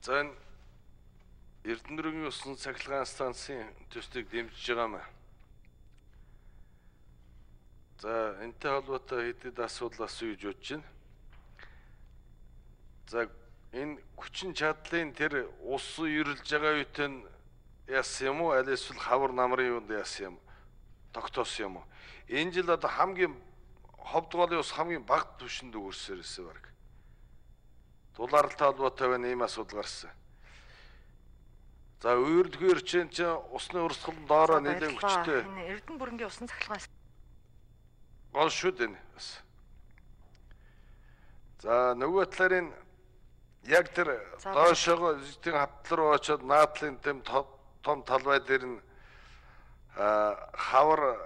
За энэ Эрдэнэрийн усан цахилгаан станцын төслийг дэмжиж байгаа маа. За энэтэй холбоотой хэдийд асуудал асууж бодож байна. За энэ хүчин чадлын тэр ус ирэлж байгаа үеийн яасан юм уу? Аль эсвэл хавар намрын юунд яасан юм? Тогтоосон юм уу? Энэ жил одоо хамгийн ховдгоолын ус хамгийн бага түвшинд өгөрсөөр ирсэн баг. Дулаалтай холбоотой байна ийм асуудал гарсан. За өөрөлдгөөр чинь усны урсгал доороо нэлээд хүчтэй. Энэ Эрдэнэ бүрэнгийн усан цахилгаан гол шүү дээ. За нөгөө талаар яг тэр доошоо зүйтэй хавтал руу очоод наадлын тэм том талбай дээр нь хавар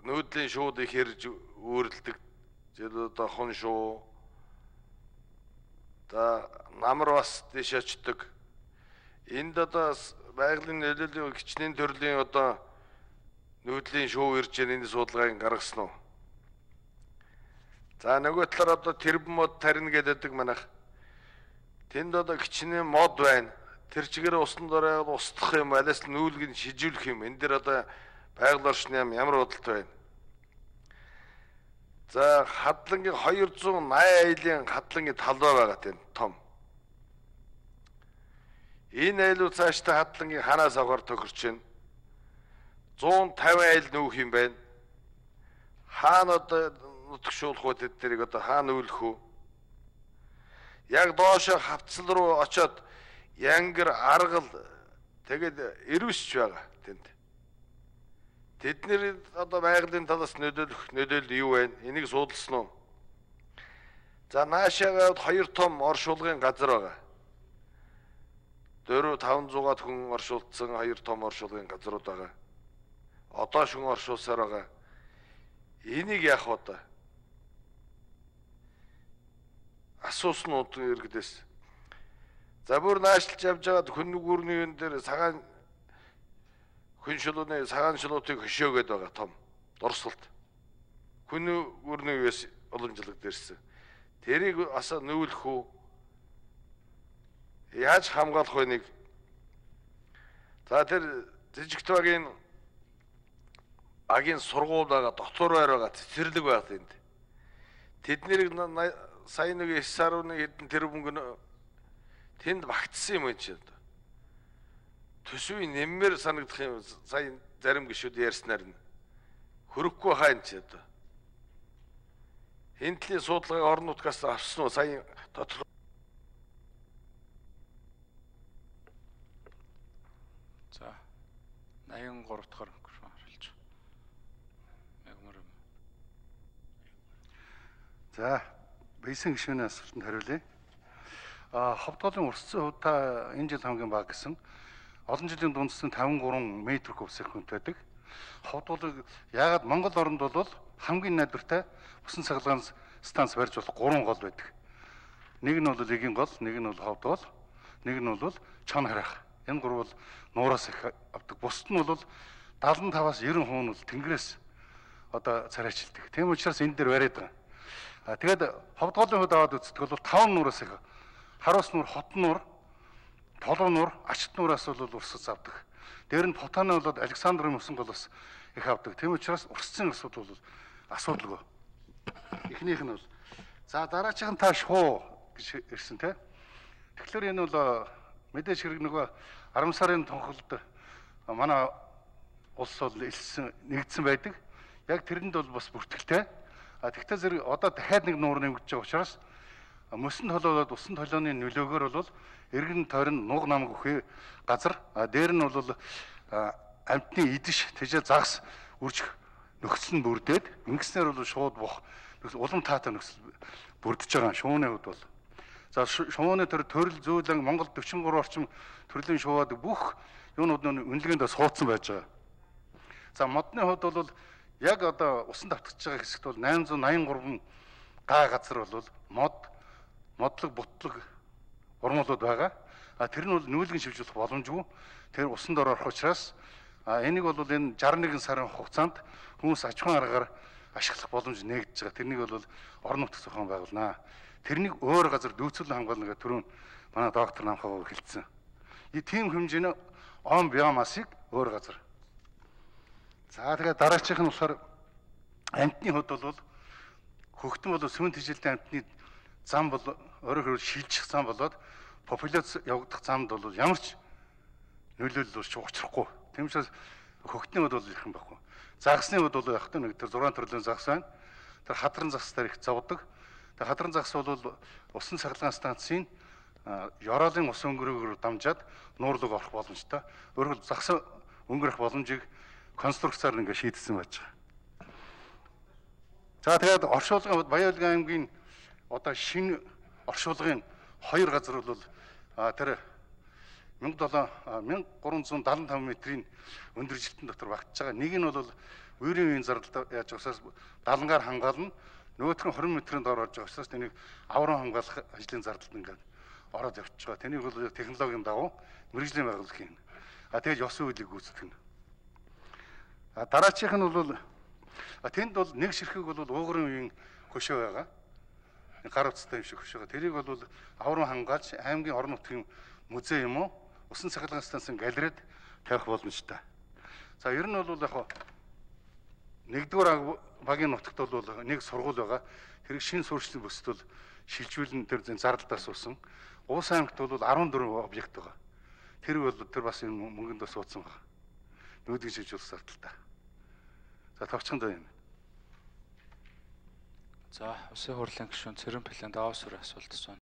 нүүдлийн шуудыг хэрж өөрлөдөг. Жил одоо хон шуу. За намар бас дэш очдөг. Энд одоо байгалийн нөлөөллийн хичнээн төрлийн одоо нүүдлийн шуу ирж энэ судалгааг гаргасан уу? За нөгөө талаар одоо тэрбэн мод тарина гэдэг манайх. Тэнд одоо хичнээн мод байна. Тэр чигээр усан дорой устгах юм, алаас нүүлгийг шижүүлэх юм. Энэ дэр одоо байгаль орчны ямар бодолтой байна? За хадлангийн 280 айлын хадлангийн талбай байгаа тийм том. Энэ айлууд цаашдаа хадлангийн ханаас авахар тохирч байна. 150 айл нүүх юм байна. Хаана одоо нутгшуулах уу тэднийг одоо хаана нүүлэх үү? Яг доошо хавцал руу очоод янгар аргал тэгээд ирвсч байгаа тэнд. Тэдний одоо байгалийн талаас нөлөөлөл юу вэ? Энийг судалсан уу? За наашаагаад 2 том оршуулгын газар байгаа. 400-500-аад хүн оршуулсан 2 том оршуулгын газрууд байгаа. Одоо шүн оршуулсаар байгаа. Энийг яах вэ? Асууснууд иргэдээс. За бүр наашлж явж байгаад хүн нүгүрний юун дээр цагаан хүн шулууны цагаан шулуутыг хөшөөгөөд байгаа том дурсгалт. Хүн нүгүрний юус уламжлалт дээрсэн. Тэрийг бас нүүлэх үү? Яаж хамгаалах вэ нэг? За тэр Жижигтвагийн агийн сургууль байгаа, дотор байр байгаа, цэцэрлэг байгаа тэнд. Тэднийг сая нэг 9.1 хэдэн тэрбум тэнд багтсан юм чи. Төсвийн нэммээр санагдах юм сая зарим гишүүд ярьснаар нь хөрөхгүй хаан чи одоо. Хинтлийн судалгааг орон нутгаас авсан уу сая дотор. За 83 дахь микрофон харуулж. Мегмөр. За бийсэн гишүүний асуултанд хариулъя. Ховдголын урсцсан хувьд та энэ жил хамгийн бага гэсэн олон жилийн дундсан 53 м куб секунд байдаг. Ховдголыг яагаад Монгол оронд бол хамгийн найдвартай усан цахилгаан станц барьж болох 3 гол байдаг. Нэг нь бол Эгийн гол, нэг нь бол Ховдгол, нэг нь бол Чон харах. Энэ гурав бол нуураас их авдаг. Бусд нь бол 75-аас 90% нь бол тэнгэрээс одоо царайчилдаг. Тийм учраас энэ дээр бариад байгаа. Тэгээд Ховдголын хувьд аваад үздэг бол 5 нуураас их харуус нуур, хот нуур, толгой нуур, ачт нуураас бол урсц авдаг. Дээр нь Потаны бол Александрын усан голоос их авдаг. Тийм учраас урсцын асуудал бол асуудалгүй. Эхнийх нь бол за дараачих нь та шуу гэж ирсэн те. Тэгэхээр энэ бол мэдээж хэрэг нөгөө 10 сарын тунхалд манай улс бол нэгдсэн байдаг. Яг тэрэнд бол бас бүртгэлтэй. Тэгтээ зэрэг одоо дахиад нэг нуур нэмэгдэж байгаа учраас мөсөн толгойд усан толгойн нөлөөгөөр бол эргэн тойрон нуг намг өхөө газар дээр нь бол амтны идэж тэжээ загас үржих нөхцөл нь бүрдээд ингэснээр бол шууд бох улам таатай нөхцөл бүрдэж байгаа шууны хувьд бол за шууны төрөл зөөлөн Монгол 43 орчим төрлийн шууад бүх юунууд нь үнэлгээнд суудсан байж байгаа. За модны хувьд бол яг одоо усан давтагдж байгаа хэсэгт бол 883 га газар бол модлог бутлаг урмуулууд байгаа. Тэр нь бол нүүлгэн шивжүүлэх боломжгүй. Тэр усан дор орох учраас энийг бол энэ 61 сарын хугацаанд хүмүүс аж ахуйн аргаар ашиглах боломж нээгдэж байгаа. Тэрнийг бол орон нутгийн зохион байгуулнаа. тэрнийг өөр газар нөөцөл хамгаална гэх түрүүн манай доктор намхаа хэлсэн. И тийм хэмжээний он биомасыг өөр газар. За тэгээд дараачих нь болохоор амтны хувьд бол хөгтөн бол сүмэн тэжээлтэй амтны зам бол өөрөөр хэлбэл шилжих зам болоод популяц явагдах замд бол ямар ч нөлөөлөл учрахгүй. Тийм учраас хөгтний хувьд бол их юм байхгүй. Загсны хувьд бол яг нэг тэр 6 төрлийн загс байна. Тэр хадран загс дээр их зовдөг. Тэр хадран загс бол усан цахилгаан станцын ёроолын ус өнгөрөөгөөр дамжаад нуурлаг орох боломжтой. Өөрөөр хэлбэл загс өнгөрөх боломжийг конструкцаар ингээ шийдсэн байж байгаа. За тэгээд оршуулгын Баян-Улгийн аймгийн одоо шинэ оршуулгын 2 газар бол тэр 1375 метрийн өндөржилтэн дотор багтж байгаа. Нэг нь бол үерийн үеийн зардал яаж учраас далангаар хангаална. Нөгөөх нь 20 метрийн доор орж байгаа учраас тэнийг аврам хамгаалах ажлын зардалд ингээд ороод явчихж байгаа. Тэнийг бол технологийн дагуу мэрэгжлийн байгууллага хийнэ. Тэгээд ёсон үйлийг гүйцэтгэнэ. Дараачих нь бол тэнд бол нэг ширхэг бол уугарын үеийн хөшөө байгаа. Гар утастай юм шиг хөшөө байгаа. Тэрийг бол аврам хангаалж аймгийн орон нутгийн музей юм уу? Усан цахилгаан станцын галерейд тавих боломжтой. За ер нь бол яг нэгдүгээр багийн нутагт бол нэг сургууль байгаа. Тэрийг шинэ суурьшлийн бүсд бол шилжүүлэн тэр зардалтаас уусан. Уус аймагт бол 14 объект байгаа. Тэр бол тэр бас энэ мөнгөнд бас ууцсан байгаа. Нүүдгийн шилжүүлэх зардалтай. За товчхон зөө юм. За, Улсын хурлын гишүүн Цэрэн План Даваа сүрэ асуулт асууна.